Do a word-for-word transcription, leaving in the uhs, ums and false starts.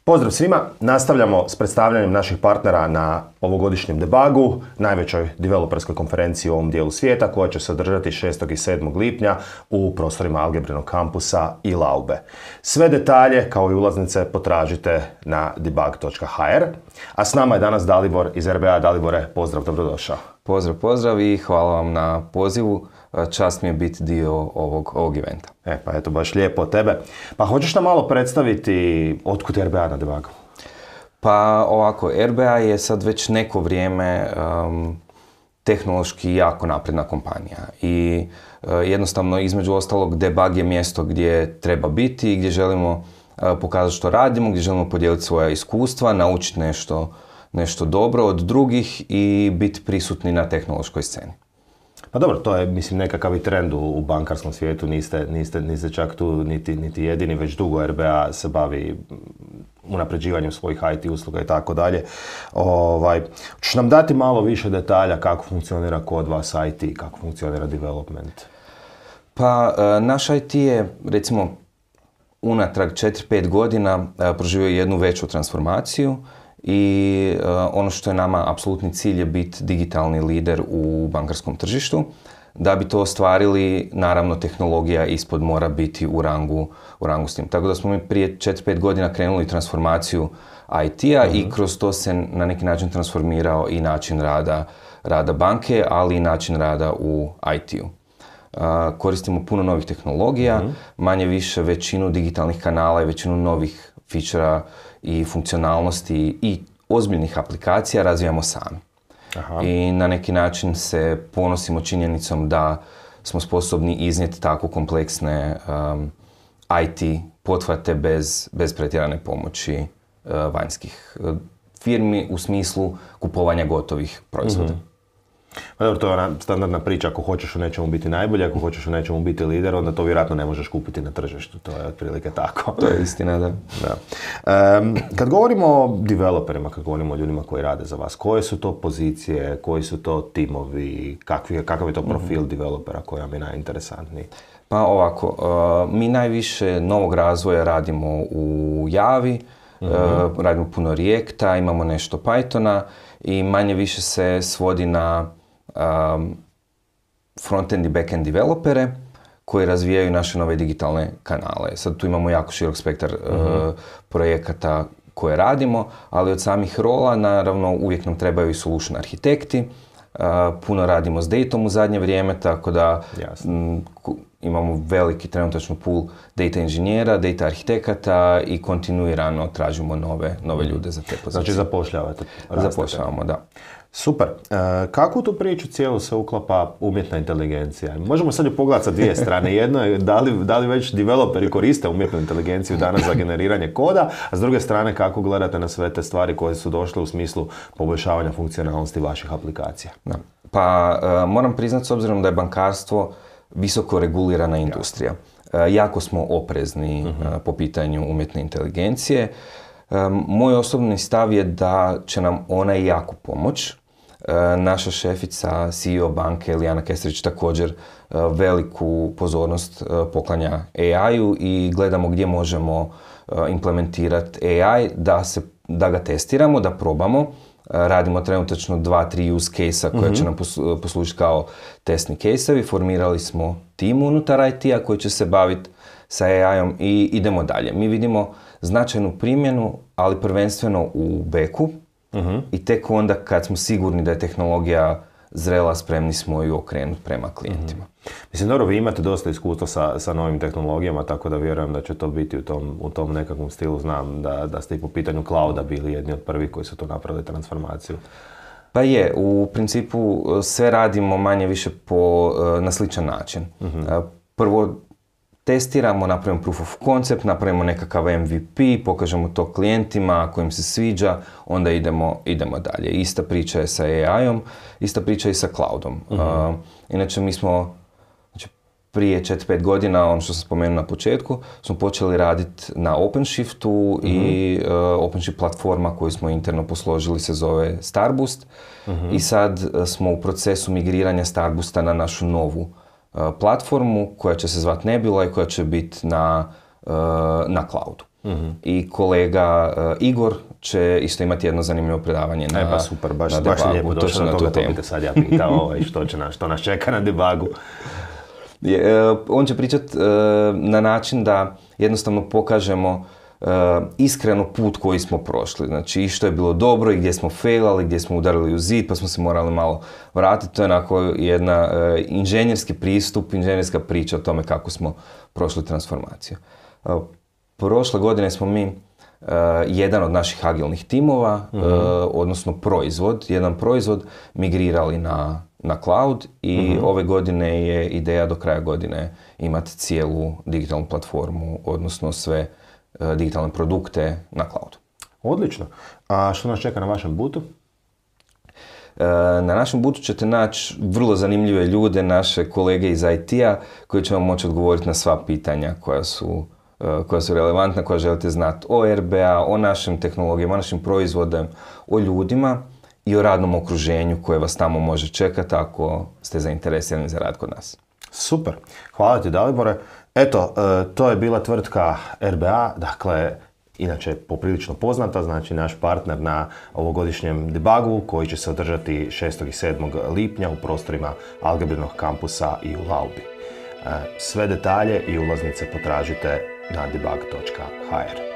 Pozdrav svima, nastavljamo s predstavljanjem naših partnera na ovogodišnjem debugu, najvećoj developerskoj konferenciji u ovom dijelu svijeta, koja će se održati šestog i sedmog lipnja u prostorima Algebrinog kampusa i Laube. Sve detalje kao i ulaznice potražite na debug točka h r. A s nama je danas Dalibor iz R B A. Dalibore, pozdrav, dobrodošao. Pozdrav, pozdrav i hvala vam na pozivu. Čast mi je biti dio ovog, ovog eventa. E, pa eto, baš lijepo od tebe. Pa hoćeš nam malo predstaviti otkud R B A na debugu? Pa ovako, R B A je sad već neko vrijeme um, tehnološki jako napredna kompanija i uh, jednostavno između ostalog debug je mjesto gdje treba biti i gdje želimo uh, pokazati što radimo, gdje želimo podijeliti svoja iskustva, naučiti nešto, nešto dobro od drugih i biti prisutni na tehnološkoj sceni. Pa dobro, to je mislim nekakav i trend u, u bankarskom svijetu, niste, niste, niste čak tu niti, niti jedini, već dugo R B A se bavi unapređivanjem svojih I T usluga i tako dalje. Ovaj, ćeš nam dati malo više detalja kako funkcionira kod vas I T, kako funkcionira development? Pa naš I T je recimo unatrag četiri pet godina proživio jednu veću transformaciju. I uh, ono što je nama apsolutni cilj je biti digitalni lider u bankarskom tržištu. Da bi to ostvarili, naravno tehnologija ispod mora biti u rangu, u rangu s tim. Tako da smo mi prije četiri pet godina krenuli transformaciju I T-a uh-huh. i kroz to se na neki način transformirao i način rada, rada banke, ali i način rada u I T-u. Uh, koristimo puno novih tehnologija, uh-huh. manje više većinu digitalnih kanala i većinu novih fičera i funkcionalnosti i ozbiljnih aplikacija razvijamo sami. Aha. I na neki način se ponosimo činjenicom da smo sposobni iznijeti tako kompleksne um, I T pothvate bez, bez pretjerane pomoći uh, vanjskih uh, firmi u smislu kupovanja gotovih proizvoda. Mm-hmm. Pa dobro, to je ona standardna priča, ako hoćeš u nečemu biti najbolji, ako hoćeš u nečemu biti lider, onda to vjerojatno ne možeš kupiti na tržištu, to je otprilike tako. To je istina, da. da. Um, kad govorimo o developerima, kad govorimo o ljudima koji rade za vas, koje su to pozicije, koji su to timovi, kakvi, kakav je to profil mm-hmm. developera koji vam je najinteresantniji? Pa ovako, uh, mi najviše novog razvoja radimo u Javi, mm-hmm. uh, radimo puno Reacta, imamo nešto Pythona i manje više se svodi na Um, front-end i back-end developere koji razvijaju naše nove digitalne kanale. Sad tu imamo jako širok spektar uh-huh. uh, projekata koje radimo, ali od samih rola naravno uvijek nam trebaju i solution arhitekti. Uh, puno radimo s datom u zadnje vrijeme, tako da m, ku, imamo veliki trenutačno pool data inženjera, data arhitekata i kontinuirano tražimo nove, nove ljude za te pozicije. Znači zapošljavate? Zapošljavamo, da. Super. E, kako u tu priču cijelu se uklapa umjetna inteligencija? Možemo sad ju pogledati sa dvije strane. Jedno je da li, da li već developeri koriste umjetnu inteligenciju danas za generiranje koda, a s druge strane kako gledate na sve te stvari koje su došle u smislu poboljšavanja funkcionalnosti vaših aplikacija? Da. Pa uh, moram priznati s obzirom da je bankarstvo visoko regulirana industrija. Uh, jako smo oprezni uh-huh. uh, po pitanju umjetne inteligencije. Um, moj osobni stav je da će nam ona jako pomoć. Uh, naša šefica, C E O banke, Lijana Kesterić, također uh, veliku pozornost uh, poklanja A I-u i gledamo gdje možemo uh, implementirati A I, da, se, da ga testiramo, da probamo. Uh, radimo trenutačno dva, tri use case-a koja mm-hmm. će nam poslu, poslužiti kao testni case-evi. Formirali smo tim unutar I T-a koji će se baviti sa A I-om i idemo dalje. Mi vidimo značajnu primjenu, ali prvenstveno u beku uh-huh. i tek onda kad smo sigurni da je tehnologija zrela, spremni smo ju okrenuti prema klijentima. Uh-huh. Mislim, dobro, vi imate dosta iskustva sa, sa novim tehnologijama, tako da vjerujem da će to biti u tom, u tom nekakvom stilu. Znam da, da ste i po pitanju clouda bili jedni od prvih koji su to napravili transformaciju. Pa je, u principu sve radimo manje više po, na sličan način. Uh-huh. Prvo testiramo, napravimo proof of concept, napravimo nekakav M V P, pokažemo to klijentima, ako im se sviđa, onda idemo, idemo dalje. Ista priča je sa A I-om, ista priča je i sa cloudom. Uh-huh. Uh, inače, mi smo znači, prije četiri pet godina, ono što sam spomenuo na početku, smo počeli raditi na OpenShiftu mm-hmm. i uh, OpenShift platforma koju smo interno posložili se zove Starboost mm-hmm. i sad smo u procesu migriranja Starboosta na našu novu uh, platformu koja će se zvati Nebula i koja će biti na, uh, na cloudu. Mm-hmm. I kolega uh, Igor će isto imati jedno zanimljivo predavanje na, e, pa super, baš, na baš debugu. lijepo došlo na toga, to bi te sad ja pitao ovaj, što, će nas, što nas čeka na debugu. Je, uh, on će pričati uh, na način da jednostavno pokažemo uh, iskreno put koji smo prošli. Znači i što je bilo dobro i gdje smo failali, gdje smo udarili u zid pa smo se morali malo vratiti. To je onako jedna uh, inženjerski pristup, inženjerska priča o tome kako smo prošli transformaciju. Uh, prošle godine smo mi Uh, jedan od naših agilnih timova, mm-hmm. uh, odnosno proizvod, jedan proizvod migrirali na, na cloud i mm-hmm. ove godine je ideja do kraja godine imati cijelu digitalnu platformu, odnosno sve uh, digitalne produkte na cloudu. Odlično. A što nas čeka na vašem bootu? Uh, na našem bootu ćete naći vrlo zanimljive ljude, naše kolege iz I T-a koji će vam moći odgovoriti na sva pitanja koja su koja su relevantna, koja želite znati o R B A, o našim tehnologijama, o našim proizvodima, o ljudima i o radnom okruženju koje vas tamo može čekati ako ste zainteresirani za rad kod nas. Super. Hvala ti, Dalibore. Eto, to je bila tvrtka R B A, dakle, inače poprilično poznata, znači naš partner na ovogodišnjem debugu koji će se održati šestog i sedmog lipnja u prostorima Algebrinog kampusa i u Laubi. Sve detalje i ulaznice potražite na debug točka h r.